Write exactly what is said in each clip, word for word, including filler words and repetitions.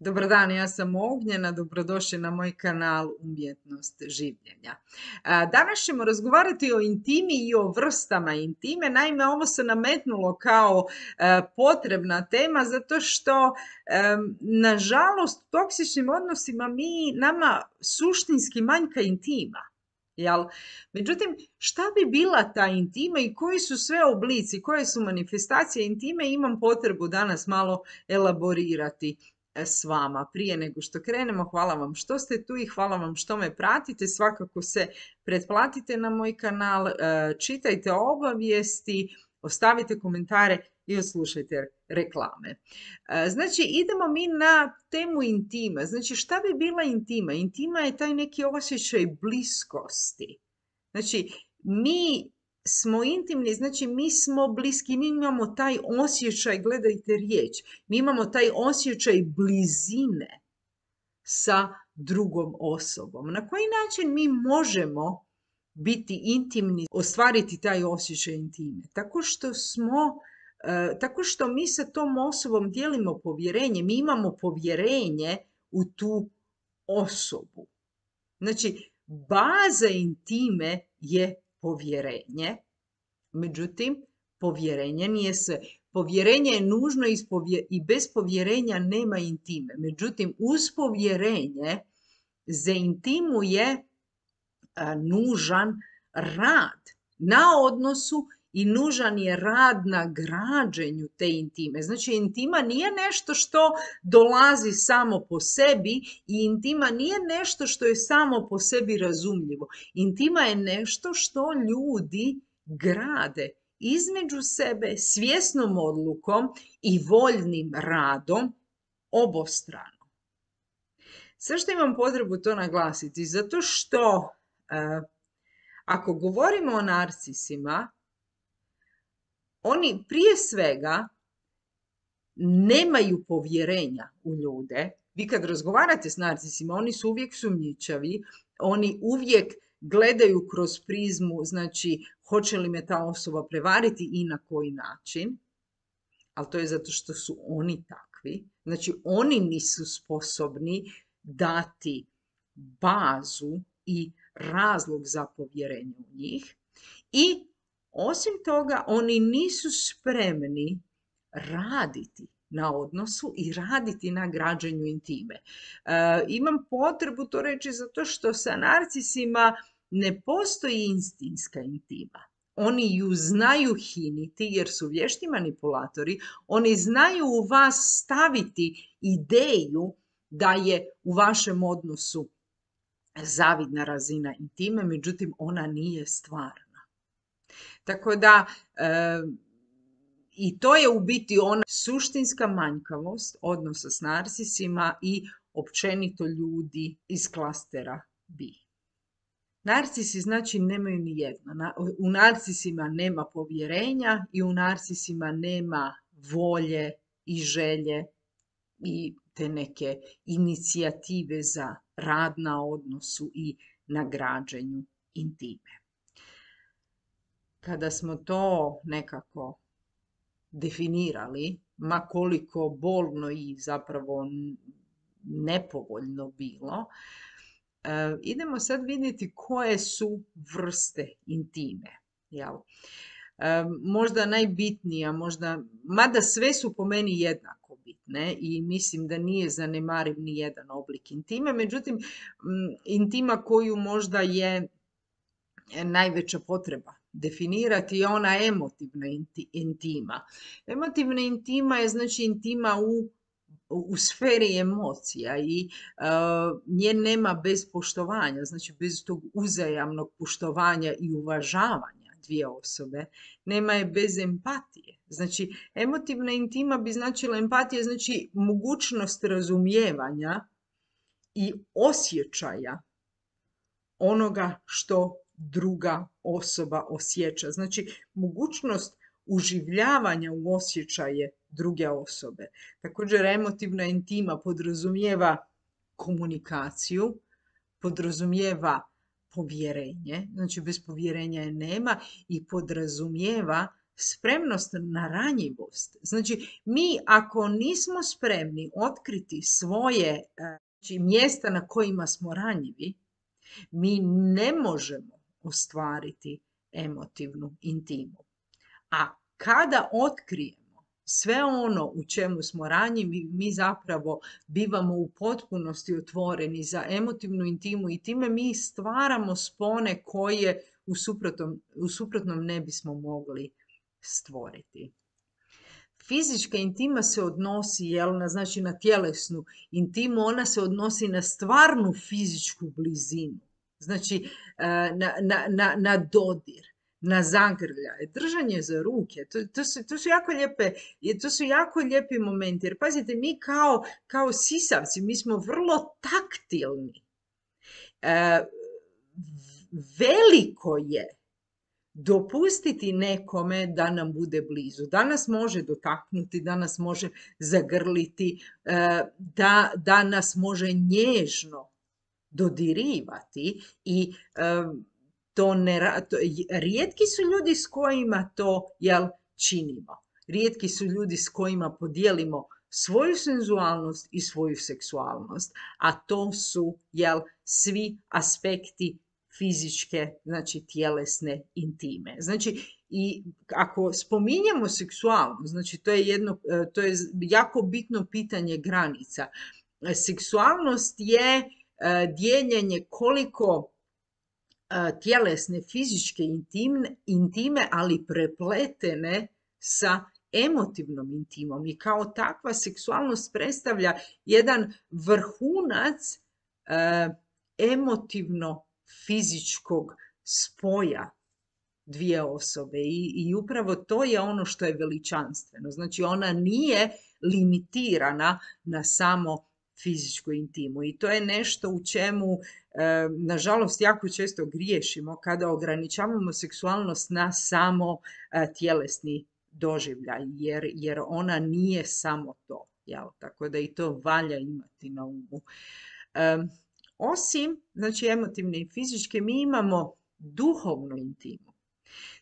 Dobar dan, ja sam Ognjena, dobrodošli na moj kanal Umjetnost življenja. A, Danas ćemo razgovarati o intimi i o vrstama intime. Naime, ovo se nametnulo kao e, potrebna tema zato što, e, nažalost, u toksičnim odnosima mi, nama suštinski manjka intima. Jel? Međutim, šta bi bila ta intima i koji su sve oblici, koje su manifestacije intime, imam potrebu danas malo elaborirati s vama. Prije nego što krenemo, hvala vam što ste tu i hvala vam što me pratite. Svakako se pretplatite na moj kanal, čitajte obavijesti, ostavite komentare i odslušajte reklame. Znači, idemo mi na temu intima. Znači, šta bi bila intima? Intima je taj neki osjećaj bliskosti. Znači, mi smo intimni, znači mi smo bliski, mi imamo taj osjećaj, gledajte riječ, mi imamo taj osjećaj blizine sa drugom osobom. Na koji način mi možemo biti intimni, ostvariti taj osjećaj intime? Tako što smo, uh, tako što mi sa tom osobom dijelimo povjerenje, mi imamo povjerenje u tu osobu. Znači, baza intime je povjerenje, međutim, povjerenje nije sve. Povjerenje je nužno i bez povjerenja nema intime. Međutim, uz povjerenje za intimu je nužan rad na odnosu i nužan je rad na građenju te intime. Znači, intima nije nešto što dolazi samo po sebi i intima nije nešto što je samo po sebi razumljivo. Intima je nešto što ljudi grade između sebe svjesnom odlukom i voljnim radom obostrano. Sve što imam potrebu to naglasiti, zato što uh, ako govorimo o narcisima, oni prije svega nemaju povjerenja u ljude. Vi kad razgovarate s narcisima, oni su uvijek sumnjičavi, oni uvijek gledaju kroz prizmu, znači, hoće li me ta osoba prevariti i na koji način, ali to je zato što su oni takvi. Znači, oni nisu sposobni dati bazu i razlog za povjerenje u njih i osim toga, oni nisu spremni raditi na odnosu i raditi na građenju intime. E, imam potrebu to reći zato što sa narcisima ne postoji istinska intima. Oni ju znaju hiniti jer su vješti manipulatori. Oni znaju u vas staviti ideju da je u vašem odnosu zavidna razina intime, međutim ona nije stvarna. Tako da, e, i to je u biti ona suštinska manjkavost odnosa s narcisima i općenito ljudi iz klastera B. Narcisi znači nemaju ni jedno. U narcisima nema povjerenja i u narcisima nema volje i želje i te neke inicijative za rad na odnosu i na građenju intime. Kada smo to nekako definirali, ma koliko bolno i zapravo nepovoljno bilo, idemo sad vidjeti koje su vrste intime. Jel? Možda najbitnija, možda, mada sve su po meni jednako bitne i mislim da nije zanemariv ni jedan oblik intime, međutim, intima koju možda je najveća potreba definirati je ona emotivna intima. Emotivna intima je znači intima u, u sferi emocija i uh, nje nema bez poštovanja, znači bez tog uzajamnog poštovanja i uvažavanja dvije osobe, nema je bez empatije. Znači, emotivna intima bi značila empatija, znači mogućnost razumijevanja i osjećaja onoga što druga osoba osjeća. Znači, mogućnost uživljavanja u osjećaje druge osobe. Također, emotivna intima podrazumijeva komunikaciju, podrazumijeva povjerenje, znači bez povjerenja je nema i podrazumijeva spremnost na ranjivost. Znači, mi ako nismo spremni otkriti svoje znači, mjesta na kojima smo ranjivi, mi ne možemo ostvariti emotivnu intimu. A kada otkrijemo sve ono u čemu smo ranjivi, mi zapravo bivamo u potpunosti otvoreni za emotivnu intimu i time mi stvaramo spone koje u suprotnom, u suprotnom ne bismo mogli stvoriti. Fizička intima se odnosi, jel, na, znači na tjelesnu intimu, ona se odnosi na stvarnu fizičku blizinu, znači na, na, na, na dodir, na zagrljaje, držanje za ruke, to, to, su, to su jako lijepe, to su jako lijepi momenti, jer pazite, mi kao, kao sisavci, mi smo vrlo taktilni. E, veliko je dopustiti nekome da nam bude blizu, da nas može dotaknuti, da nas može zagrliti, da, da nas može nježno dodirivati i to ne, to, rijetki su ljudi s kojima to jel, činimo. Rijetki su ljudi s kojima podijelimo svoju senzualnost i svoju seksualnost, a to su jel, svi aspekti fizičke, znači tjelesne intime. Znači, i ako spominjemo seksualnost, znači to je jedno, to je jako bitno pitanje granica. Seksualnost je dijeljenje koliko tjelesne, fizičke intime, intime, ali prepletene sa emotivnom intimom. I kao takva seksualnost predstavlja jedan vrhunac emotivno fizičkog spoja dvije osobe I, i upravo to je ono što je veličanstveno. Znači ona nije limitirana na samo fizičku intimu i to je nešto u čemu e, nažalost jako često griješimo kada ograničavamo seksualnost na samo e, tjelesni doživljaj, jer, jer ona nije samo to. Jel? Tako da i to valja imati na umu. E, Osim, znači, emotivne i fizičke, mi imamo duhovnu intimu.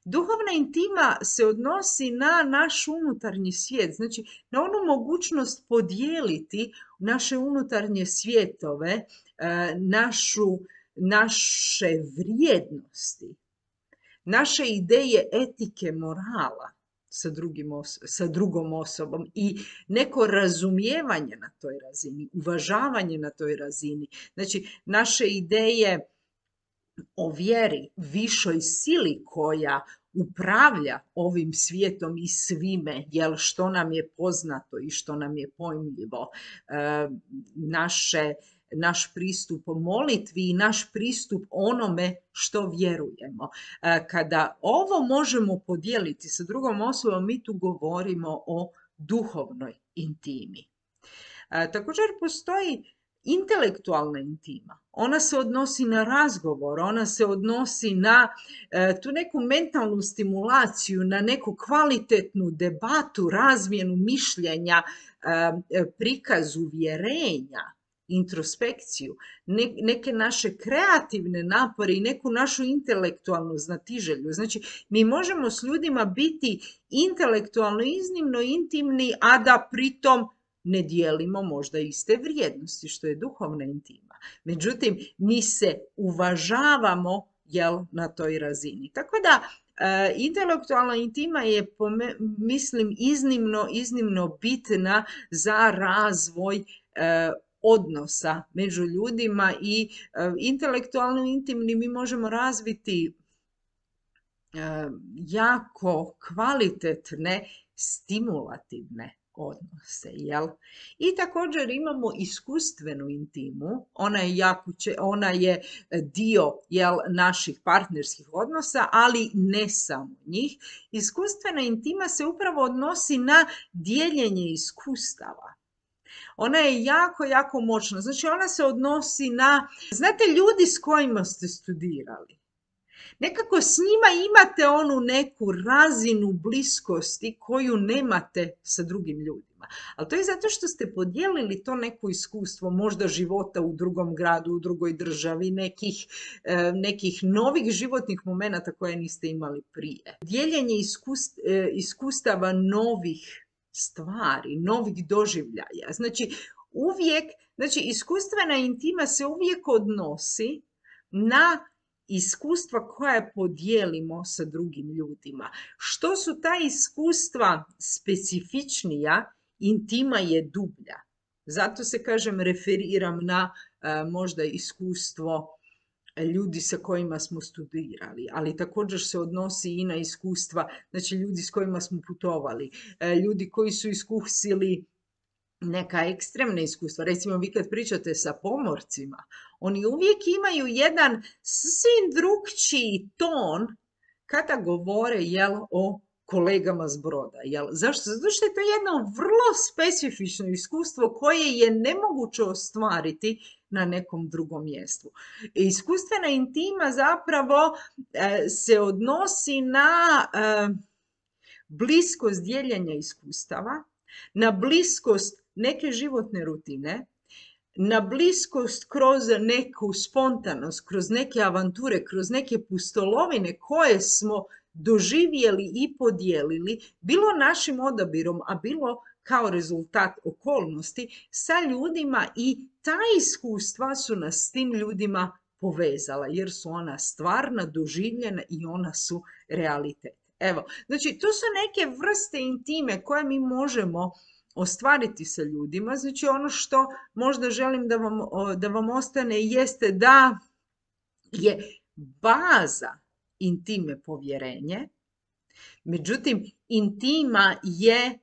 Duhovna intima se odnosi na naš unutarnji svijet, znači na onu mogućnost podijeliti naše unutarnje svjetove, našu, naše vrijednosti, naše ideje etike, morala sa, drugim os- sa drugom osobom i neko razumijevanje na toj razini, uvažavanje na toj razini. Znači, naše ideje o vjeri, višoj sili koja upravlja ovim svijetom i svime, jel, što nam je poznato i što nam je pojmljivo, e, naše, naš pristup molitvi i naš pristup onome što vjerujemo. E, kada ovo možemo podijeliti sa drugom osobom, mi tu govorimo o duhovnoj intimi. E, također postoji intelektualna intima. Ona se odnosi na razgovor, ona se odnosi na e, tu neku mentalnu stimulaciju, na neku kvalitetnu debatu, razmjenu mišljenja, e, prikaz uvjerenja, introspekciju, ne, neke naše kreativne napore i neku našu intelektualnu znatiželju. Znači, mi možemo s ljudima biti intelektualno iznimno intimni, a da pritom ne dijelimo možda iste vrijednosti, što je duhovna intima. Međutim, mi se uvažavamo, jel, na toj razini. Tako da, e, intelektualna intima je, po me, mislim, iznimno, iznimno bitna za razvoj e, odnosa među ljudima i e, intelektualno intimni mi možemo razviti e, jako kvalitetne, stimulativne odnose, jel? I također imamo iskustvenu intimu, ona je, jako, ona je dio, jel, naših partnerskih odnosa, ali ne samo njih. Iskustvena intima se upravo odnosi na dijeljenje iskustava. Ona je jako, jako moćna. Znači, ona se odnosi na, znate, ljudi s kojima ste studirali. Nekako s njima imate onu neku razinu bliskosti koju nemate sa drugim ljudima. ljudima. Ali to je zato što ste podijelili to neko iskustvo, možda života u drugom gradu, u drugoj državi, nekih, e, nekih novih životnih momenata koje niste imali prije. Dijeljenje iskust, e, iskustava novih stvari, novih doživljaja. Znači, uvijek, znači, iskustvena intima se uvijek odnosi na iskustva koja podijelimo sa drugim ljudima. Što su ta iskustva specifičnija, intima je dublja. Zato se, kažem, referiram na uh, možda iskustvo ljudi sa kojima smo studirali, ali također se odnosi i na iskustva, znači ljudi s kojima smo putovali, ljudi koji su iskusili neka ekstremna iskustva. Recimo, vi kad pričate sa pomorcima, oni uvijek imaju jedan sasvim drukčiji ton kada govore, jel, o kolegama s broda. Jel? Zašto? Zato što je to jedno vrlo specifično iskustvo koje je nemoguće ostvariti na nekom drugom mjestu. Iskustvena intima zapravo e, se odnosi na e, bliskost dijeljenja iskustava, na bliskost neke životne rutine, na bliskost kroz neku spontanost, kroz neke avanture, kroz neke pustolovine koje smo doživjeli i podijelili, bilo našim odabirom, a bilo kao rezultat okolnosti, sa ljudima, i ta iskustva su nas s tim ljudima povezala, jer su ona stvarna, doživljena i ona su realitet. Evo, znači, to su neke vrste intime koje mi možemo ostvariti sa ljudima. Znači, ono što možda želim da vam, da vam ostane jeste da je baza intime povjerenje, međutim, intima je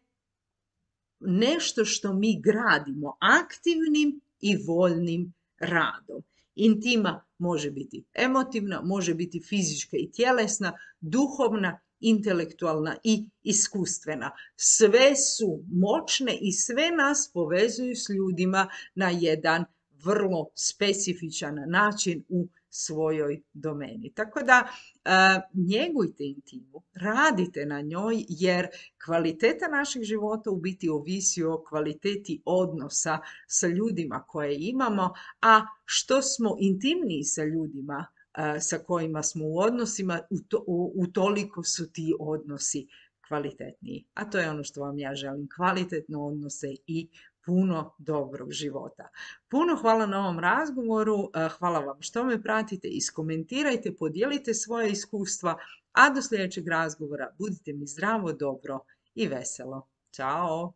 nešto što mi gradimo aktivnim i voljnim radom. Intima može biti emotivna, može biti fizička i tjelesna, duhovna, intelektualna i iskustvena. Sve su moćne i sve nas povezuju s ljudima na jedan vrlo specifičan način u svojoj domeni. Tako da e, njegujte intimu, radite na njoj, jer kvaliteta našeg života u biti ovisi o kvaliteti odnosa sa ljudima koje imamo, a što smo intimniji sa ljudima e, sa kojima smo u odnosima, u to, u, utoliko su ti odnosi kvalitetniji. A to je ono što vam ja želim, kvalitetne odnose i puno dobrog života. Puno hvala na ovom razgovoru, hvala vam što me pratite, iskomentirajte, podijelite svoje iskustva, a do sljedećeg razgovora budite mi zdravo, dobro i veselo. Ćao!